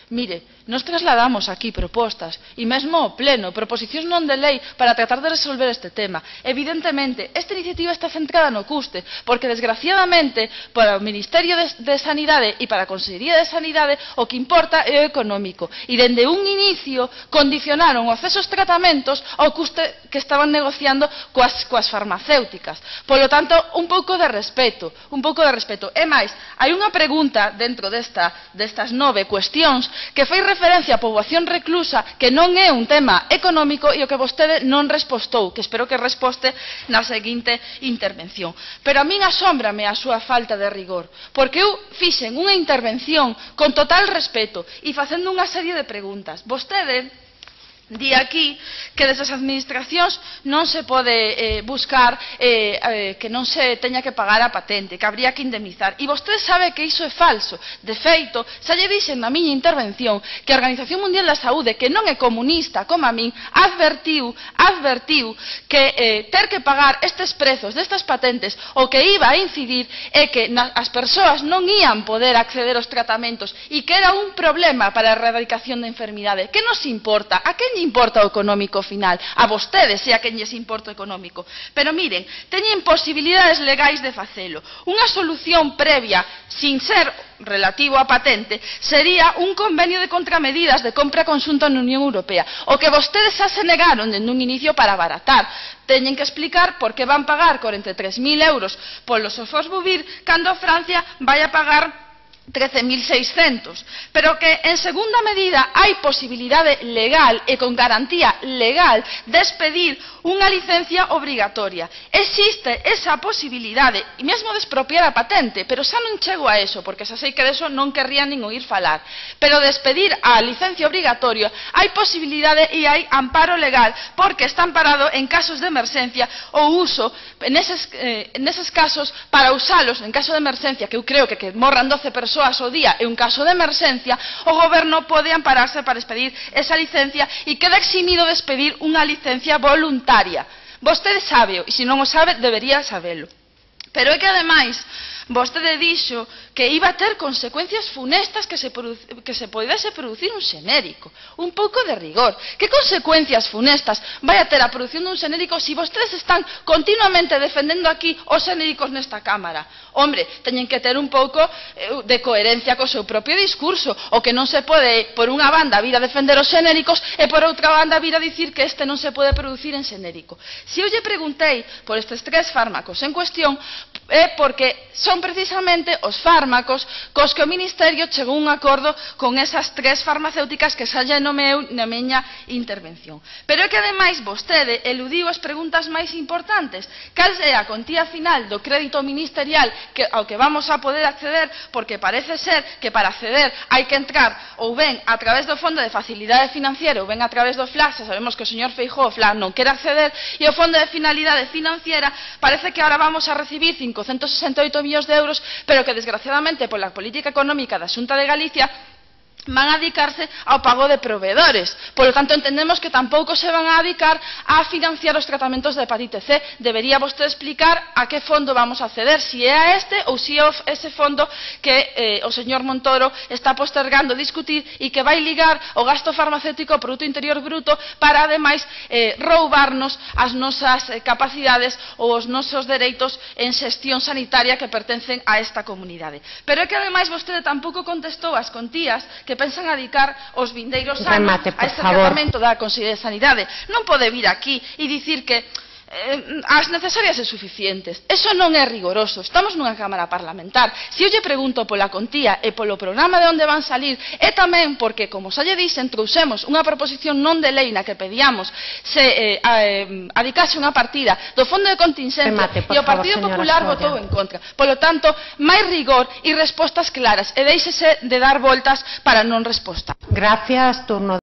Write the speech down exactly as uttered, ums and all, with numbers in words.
Mire, nos trasladamos aquí propostas e mesmo ao pleno, proposicións non de lei para tratar de resolver este tema. Evidentemente, esta iniciativa está centrada no custe, porque desgraciadamente para o Ministerio de, de Sanidade e para a Consellería de Sanidade o que importa é o económico. E dende un inicio condicionaron o acceso aos tratamentos ao custe que estaban negociando coas, coas farmacéuticas. Polo tanto, un pouco de respeto, un pouco de respeto. E máis, hai unha pregunta dentro desta, destas nove cuestións que fai referencia á poboación reclusa, que non é un tema económico e o que vostede non respostou, que espero que resposte na seguinte intervención. Pero a min asómbrame a súa falta de rigor, porque eu fixen unha intervención con total respeto e facendo unha serie de preguntas. Vostede di aquí que desde as administracións non se pode eh, buscar eh, eh, que non se teña que pagar a patente, que habría que indemnizar. E vostede sabe que iso é falso. De feito, xa lle dixen na miña intervención que a Organización Mundial da Saúde, que non é comunista como a min, advertiu, advertiu que eh, ter que pagar estes prezos destas patentes o que iba a incidir é que na, as persoas non ían poder acceder aos tratamentos e que era un problema para a erradicación da enfermidade. Que nos importa? A quen lle importa o económico final? A vostedes e a quen lles importa o económico. Pero miren, teñen posibilidades legais de facelo. Unha solución previa, sin ser relativo á patente, sería un convenio de contramedidas de compra conxunta na Unión Europea. O que vostedes xa se negaron dende un inicio para abaratar. Teñen que explicar por que van pagar corenta e tres mil euros polo Sofosbuvir cando Francia vai a pagar trece mil seiscentos, pero que en segunda medida hai posibilidade legal e con garantía legal de expedir unha licencia obrigatoria. Existe esa posibilidade, e mesmo de expropiar a patente, pero xa non chego a eso, porque xa sei que de eso non querrían nin oír falar, pero de expedir a licencia obrigatoria hai posibilidade e hai amparo legal, porque está amparado en casos de emerxencia o uso, neses, eh, neses casos, para usalos en caso de emerxencia, que eu creo que que morran doce persoas ao día é un caso de emerxencia, o goberno pode ampararse para expedir esa licencia e queda eximido de expedir unha licencia voluntaria. Vostede sábeo, e se non o sabe, debería sabelo. Pero é que, ademais, vostede dixo que iba a ter consecuencias funestas que se, que se podese producir un xenérico. Un pouco de rigor. Que consecuencias funestas vai a ter a produción dun xenérico se vostedes están continuamente defendendo aquí os xenéricos nesta Cámara? Hombre, teñen que ter un pouco de coherencia co seu propio discurso. O que non se pode, por unha banda, vir a defender os xenéricos e por outra banda vir a dicir que este non se pode producir en xenérico. Se eu lle preguntei por estes tres fármacos en cuestión, é porque son precisamente os fármacos cos que o Ministerio chegou a un acordo con esas tres farmacéuticas que xa lle nomeou na miña intervención. Pero é que, ademais, vostede eludiu as preguntas máis importantes. Cal é a contía final do crédito ministerial que, ao que vamos a poder acceder, porque parece ser que para acceder hai que entrar ou ben a través do Fondo de Facilidade Financiera ou ben a través do F L A C. Sabemos que o señor Feijóo, o F L A C, non quere acceder, e o Fondo de Finalidade Financiera parece que ahora vamos a recibir cincocentos sesenta e oito millóns de euros, pero que desgraciadamente pola política económica da Xunta de Galicia van a dedicarse ao pago de proveedores. Por lo tanto, entendemos que tampouco se van a dedicar a financiar os tratamentos de hepatite C. Debería vostede explicar a que fondo vamos a acceder, si é a este ou si é ese fondo que eh, o señor Montoro está postergando discutir e que vai ligar o gasto farmacéutico ao Produto Interior Bruto para, ademais, eh, roubarnos as nosas eh, capacidades ou os nosos dereitos en xestión sanitaria que pertencen a esta comunidade. Pero é que, ademais, vostede tampouco contestou as contías que que pensan adicar os vindeiros anos a este tratamento da Consellería de Sanidade. Non pode vir aquí e dicir que eh, as necesarias e suficientes. Eso non é rigoroso. Estamos nunha Cámara Parlamentar. Se eu lle pregunto pola contía e polo programa de onde van salir, é tamén porque, como xa lle dixen, trouxemos unha proposición non de lei na que pedíamos se eh, eh, adicase unha partida do Fondo de Contingencia e o Partido Popular votou en contra. Polo tanto, máis rigor e respostas claras e déixese de dar voltas para non respostar. Gracias, turno.